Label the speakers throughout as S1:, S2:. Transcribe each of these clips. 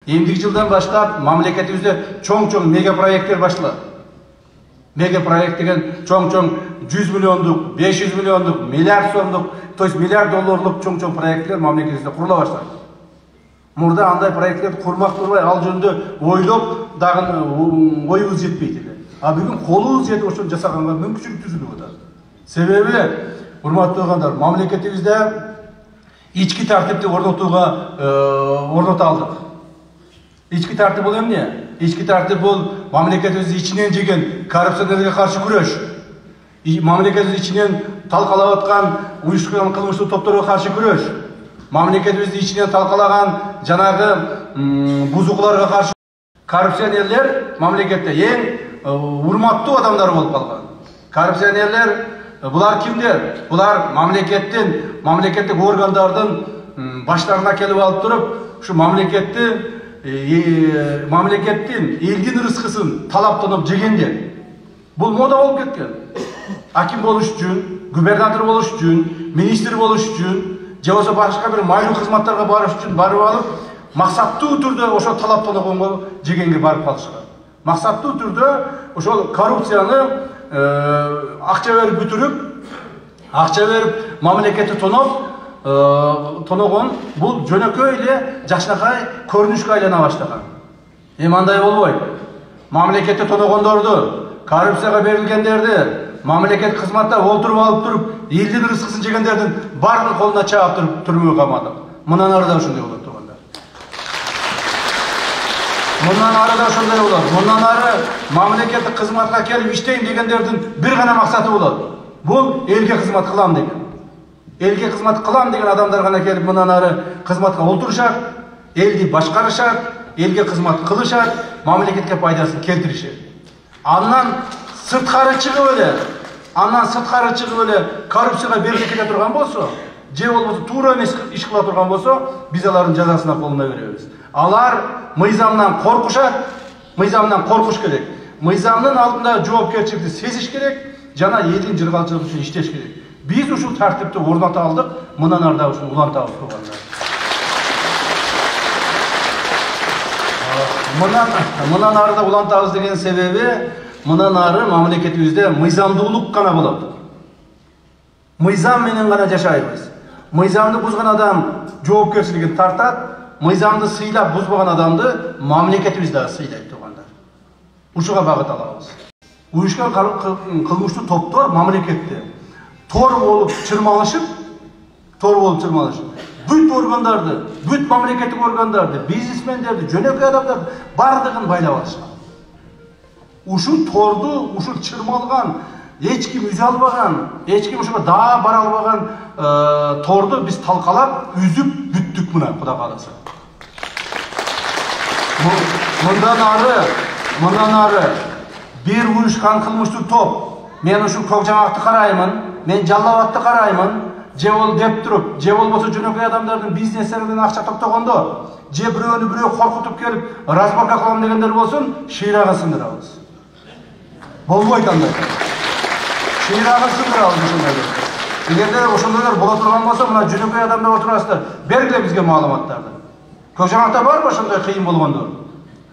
S1: Эмдиги жылдан баштап мамлекетибизде чоң-чоң мега проекттер башталат. Мега проект деген чоң-чоң 100 миллиондук, 500 миллиондук, миллиард сомдук, то есть миллиард долларлык чоң-чоң проекттер мамлекетибизде курула баштады. Мурда андай проекттерди курмак турбай, ал жөнүндө ойлоп дагы оюбуз жетпейт эле. А бүгүн колубуз жетип ошону жасаганга мүмкүнчүлүк түзүлүп атат. Себеби, урматтуу туугандар, мамлекетибизде ички тартипти орното алдык. Ички тартип бул эмне? Ички тартип бул мамлекетибиз ичинен жеген коррупционерге каршы күрөш. Мамлекетибиз ичинен талкалап аткан уюштурулган кылмыштуу топторго каршы күрөш. Мамлекетибизди ичинен талкалаган жанагы бузукуларга каршы. Коррупционерлер мамлекетте эң урматтуу адамдар болуп калган. Коррупционерлер булар кимдер? Булар мамлекеттик органдардын баштарына келип алып туруп, ушу мамлекеттин элдин рызкысын талаптанып жегендер. Бул мода болуп кеткен. Аким болуш үчүн, губернатор болуш үчүн, министр болуш үчүн, же болбосо башка бир майлуу кызматтарга барыш үчүн барып алып, максаттуу түрдө ошол талаптанганго жегенге барып калышкан. Максаттуу түрдө ошол коррупцияны акча берип бүтүрүп, акча берип мамлекетти тоногон бул жөнөкөй эле жакшынакай көрүнүшкө айлана баштаган. Эми андай болбойт. Мамлекетти тоногондорду, коррупцияга берилгендерди, мамлекет кызматта олтуруп алып туруп, элдин рызкысын жегендердин баардыгын колуна чаап туруп түрмөгө камадык. Мындан ары да ошондой болот туугандар. Мындан ары да ошондой болот. Мындан ары мамлекеттик кызматка келип иштейм дегендердин бир гана максаты болот. Бул элге кызмат кылам деген. Элге кызмат кылам деген адамдар гана келип мындан ары кызматка олтурушат, элди башкарышат, элге кызмат кылышат, мамлекетке пайдасын келтиришет. Андан сырткары чыгып эле коррупцияга берилип кете турган болсо, же болбосо туура эмес иш кыла турган болсо, биз алардын жазасына колуна беребиз. Алар мыйзамдан коркуш керек. Мыйзамдын алдында жоопкерчиликти сезиш керек, жана элдин жыргалчылыгы үчүн иштеш керек. Биз ушул тартипти орното алдык, мындан ары да ушуну улантабыз туугандар. Мындан ары да улантабыз деген себеби, мындан ары мамлекетибизде мыйзамдуулук гана болот. Мыйзам менен гана жашайбыз. Мыйзамды бузган адам жоопкерчилигин тартат, мыйзамды сыйлап бузбаган адамды мамлекетибиз дагы сыйлайт туугандар. Ушуга багыт алабыз. Уюшкан кылмыштуу топтор мамлекетте тор болуп чырмалышып, бүт органдарды, бүт мамлекеттик органдарды, бизнесмендерди, жөнөкөй адамдарды бардыгын байлап алышкан. Ушул торду, ушул чырмалган, эч ким үзө албаган, эч ким ошого даа бара албаган торду биз талкалап, үзүп бүттүк мына Кудай кааласа. Мындан ары бир уюшкан кылмыштуу топ, мен ушул көк жаңакты караймын, мен жалал абадты караймын, же бол деп туруп, же болбосо жөнөкөй адамдардын бизнестеринен акча токтогондо, же бирөөнү бирөө коркутуп келип разборка кылам дегендер болсун, шыйрагын сындырабыз. Болбойт андай. Шыйрагын сындырабыз ошондой. Эгерде ошондойлор боло турган болсо, мына жөнөкөй адамдар отурасыздар, бергиле бизге маалыматтарды. Көк жаңакта барбы ошондой кыйын болгондор?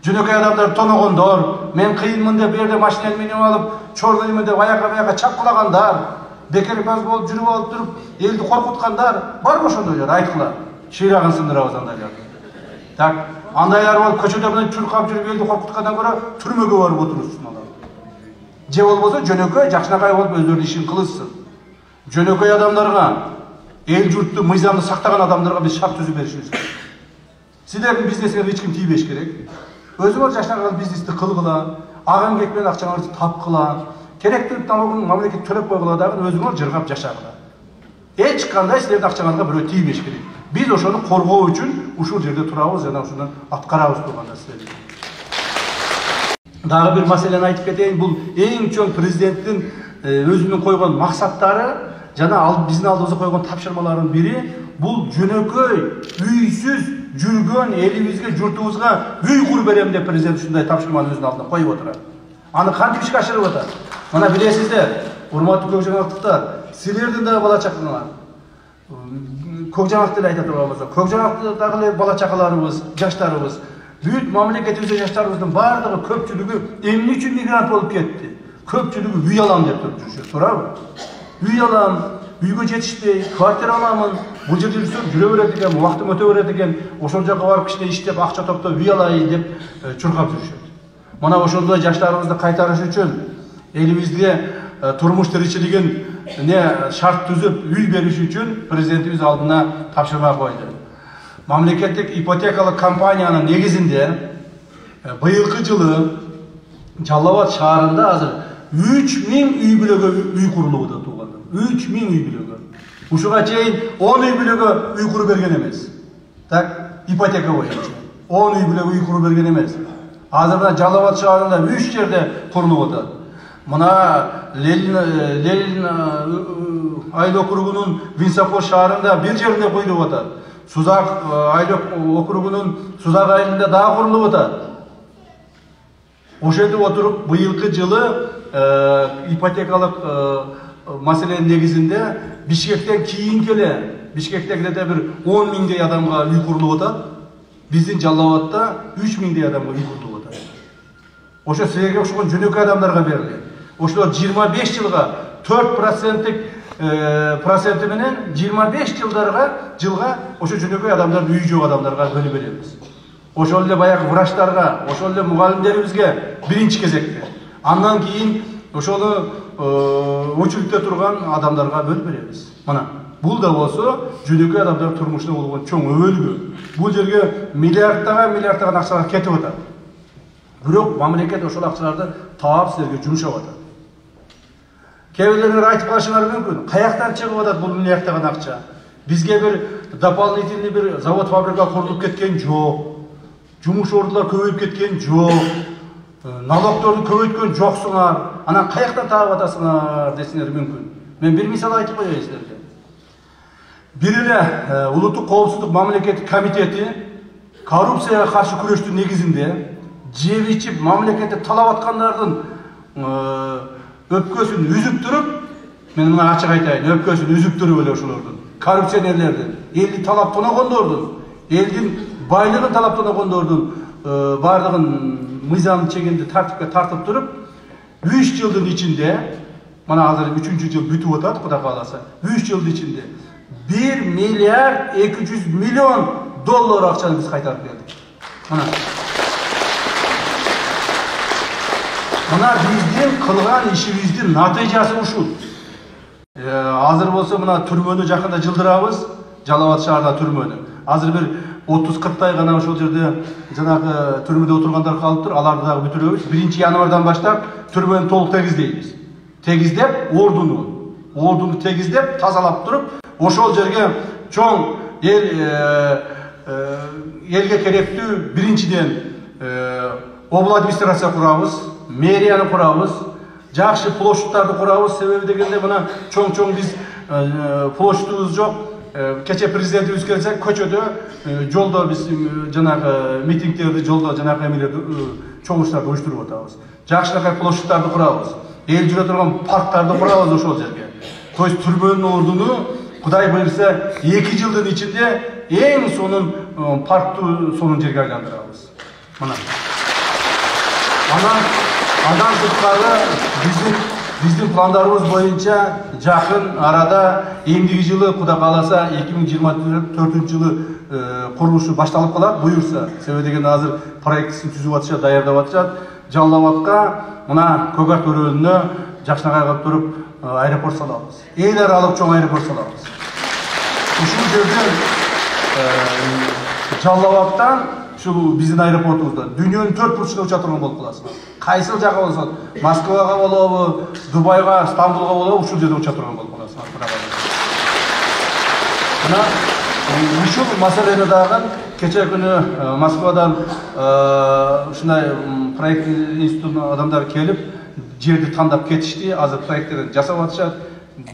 S1: Жөнөкөй адамдар тоногондор, мен кыйынмын деп берде машинени минип алып, чорлоймун деп аяка чапкылагандар, бекербаз болуп жүрүп алып туруп, элди коркуткандар, барбы ошондойлор? Айткыла. Шыйрагын сындырабыз андайларды. Так, андайлар болуп көчөдө менен чуркап жүрүп элди коркуткандан көрө түрмөгө барып отурушсын алар. Же болбосо жөнөкөй жакшынакай болуп өздөрүнүн ишин кылышсын. Жөнөкөй адамдарга, эл журтту мыйзамды сактаган адамдарга биз шарт түзүп беришибиз керек. Силердин бизнесиңерге эч ким тийбеш керек. Өзүңөр жакшынакай бизнести кылгыла, агын кетпен акчаңарды тапкыла, керектүү налогун мамлекет төлөп койгула дагы өзүңөр жыргап жашагыла. Эч кандай силердин акчаңарга бирөө тийбеш керек. Биз ошону коргоо үчүн ушул жерде турабыз жана ушуну аткарабыз турганда силер. Дагы бир маселени айтып кетейин, бул эң чоң президенттин өзүнүн койгон максаттары жана биздин алдыбызга койгон тапшырмалардын бири бул жөнөкөй, үйсүз жүргөн элибизге, журтубузга үй куруп берем деп президент ушундай тапшырманы өзүнүн алдына коюп отурат. Аны кантип ишке ашырып атат? Мына билесиздер, урматтуу көк жаңактыктар, силердин дагы бала чакаңар. Көк жаңакты эле айта турган болсок, көк жаңакты дагы эле бала чакаларыбыз, жаштарыбыз Бүт мамлекетибизде жаштарыбыздын бардыгы көпчүлүгү эмне үчүн мигрант болуп кетти? Көпчүлүгү үй алам деп жүрүшөт, туурабы? Үй алам, үйгө жетишпей, квартира аламын, бул жерде жүрсөм жүрө берет экен, убактым өтө берет экен, ошол жака барып кичине иштеп, акча топтоп үй алайын деп чуркап жүрүшөт. Мына ошондой жаштарыбызды кайтарыш үчүн элибизде турмуш тиричилигин шарт түзүп, үй бериш үчүн президентибиз алдына тапшырма койду. Мамлекеттик ипотекалык компаниянын негизинде быйылкы жылы Жалал Абад шаарында азыр 3000 үй бүлөгө үй курулуп атат туугандым. 3000 үй бүлөгө. Ушуга чейин 10 үй бүлөгө үй куруп берген эмес. Так, ипотека боюнча 10 үй бүлөгө үй куруп берген эмес. Азыр мына Жалал Абад шаарында 3 жерде курулуп атат. Мына Ленин айыл округунун Винсапор шаарында бир жеринде куюлуп атат. Сузак айыл округунун Сузак айылында дагы курулуп атат. Ошентип отуруп быйылкы жылы ипотекалык маселенин негизинде Бишкектен кийинки эле Бишкектегиле бир 10 миңдей адамга үй курулуп атат. Биздин Жалал Абадта 3 миңдей адамга үй курулуп атат. Ошо силерге окшогон жөнөкөй адамдарга берилет. Ошолор 25 жылга 4% менен 25 жылга ошо жөнөкөй адамдарды үй жок адамдарга бөлүп беребиз. Ошол эле баягы врачтарга, ошол эле мугалимдерибизге биринчи кезекте. Андан кийин ошону очередте турган адамдарга бөлүп беребиз. Мына бул да болсо жөнөкөй адамдар турмушуна болгон чоң өбөлгү. Бул жерге миллиардтаган акчалар кетип атат. Бирок мамлекет ошол акчаларды таап силерге жумшап атат. Кээ бирлер айтып калышыңар мүмкүн. Каяктан чыгып атат бул миллиардтаган акча? Бизге бир дополнительный бир завод фабрика курулуп кеткен жок. Жумуш ордулар көбөйүп кеткен жок. Налогторду көбөйткөн жоксуңар. Анан каяктан таап атасыңар десеңер мүмкүн. Мен бир мисал айтып коеюн силерге. Бир эле Улуттук коопсуздук мамлекеттик комитети коррупцияга каршы күрөштүн негизинде жеп ичип мамлекетти талап аткандардын өпкөсүн үзүп туруп, мен мына ачык айтайын, өпкөсүн үзүп туруп эле ошолордун, коррупционерлердин, элди талап тоногондордун, элдин байлыгын талап тоногондордун бардыгын мыйзам чегинде тартипке тартып туруп, 3 жылдын ичинде, мына азыр 3-жыл бүтүп атат, Кудай кааласа, 3 жылдын ичинде 1 миллиард 200 миллион доллар акчаны биз кайтарып бердик. Мына биздин кылган ишибиздин натыйжасы ушул. Азыр болсо мына түрмөнү жакында жылдырабыз, Жалал Абад шаарда түрмөнү. Азыр бир 30-40 гана ошол жерде жанагы түрмөдө отургандар калыптыр, аларды дагы бүтүрөбүз. 1-январдан баштап түрмөнү толук тегиздейбиз. Тегиздеп, ордуну тегиздеп, тазалап туруп, ошол жерге чоң элге керектүү биринчиден обл администрация курабыз, мэрияны курабыз, жакшы площадьтарды курабыз. Себеби дегенде мына чоң биз площадьыбыз жок. Кече президентибиз келсе, көчөдө, жолдо биз жанагы митингдерди, жолдо жанагы эмелерди, чогулуштарды уюштуруп атабыз. Жакшынакай площадьтарды курабыз. Эл жүрө турган парктарды курабыз ошол жерге. То есть түрмөнүн ордуну Кудай буйрса 2 жылдын ичинде эң сонун парктуу сонун жерге айландырабыз. Мына. Андан сырткары биздин пландарыбыз боюнча жакын арада эмдиги жылы Кудай кааласа 2024 жылы курулушу башталып калат буюрса. Себеби дегенде азыр проектисин түзүп атышат, даярдап атышат. Жалал Абадка мына Көк Ат өрөөнүнө жакшынакай туруп аэропорт салабыз. Эл аралык чоң аэропорт салабыз. Ушул жерде Жалал Абадтан ушул биздин аэропортубуздан дүйнөнүн 4 бурчуна уча турган болуп каласың. Кайсыл жака болсо, Москвага болобу, Дубайга, Стамбулга болобу, ушул жерде уча турган болуп каласың. Мына ушул маселени дагы кече күнү Москвадан ушундай проект институтунун адамдары келип, жерди тандап кетишти. Азыр проекттерди жасап атышат.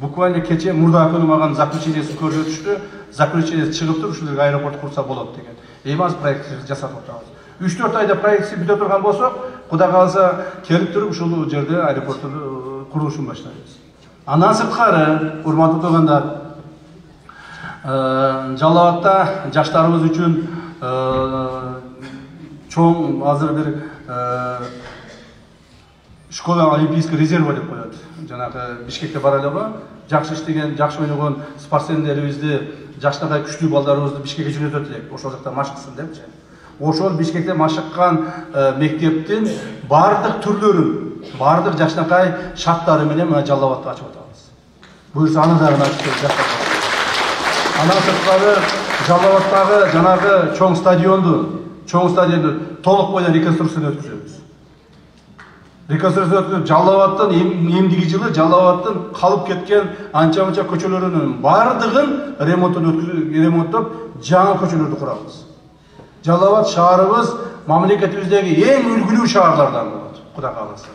S1: Буквально кече мурда күнү мага заключениесин көрсөтүштү. Заключениеси чыгыптыр, ушул жерге аэропорт курса болот деген. Эми проектти жасап атабыз. 3-4 айда проектти бүтө турган болсок, Кудай кааласа келип туруп ушул жерде аэропортту курулушун баштайбыз. Андан сырткары, урматтуу туугандар, Жалал Абадта жаштарыбыз үчүн чоң азыр бир школа олимпийский резерва деп коет. Жанагы Бишкекте бар элеби, жакшы иштеген, жакшы ойногон спортсмендерибизди, жаштагы күчтүү балдарыбызды Бишкекке жөнөтөт элек. Ошол жакта машыксын депчи. Ошол Бишкекте машыккан мектептин бардык түрлөрүн, бардык жакшынакай шарттары менен мына Жалал Абадта ачып атабыз. Буюрса аны дагы ачып жаштап. Андан сырткары Жалал Абадтагы жанагы чоң стадионду толук бойдон реконструкцияны өткүзөбүз. Реконструкция өткүзүп, Жалал Абадтын эмдиги жылы Жалал Абадтын калып кеткен анча-мынча көчөлөрүнүн бардыгын ремонттоп, жаңы көчөлөрдү курабыз. Жалал Абад шаарыбыз мамлекетибиздеги эң үлгүлүү шаарлардан болот, Кудай кааласа.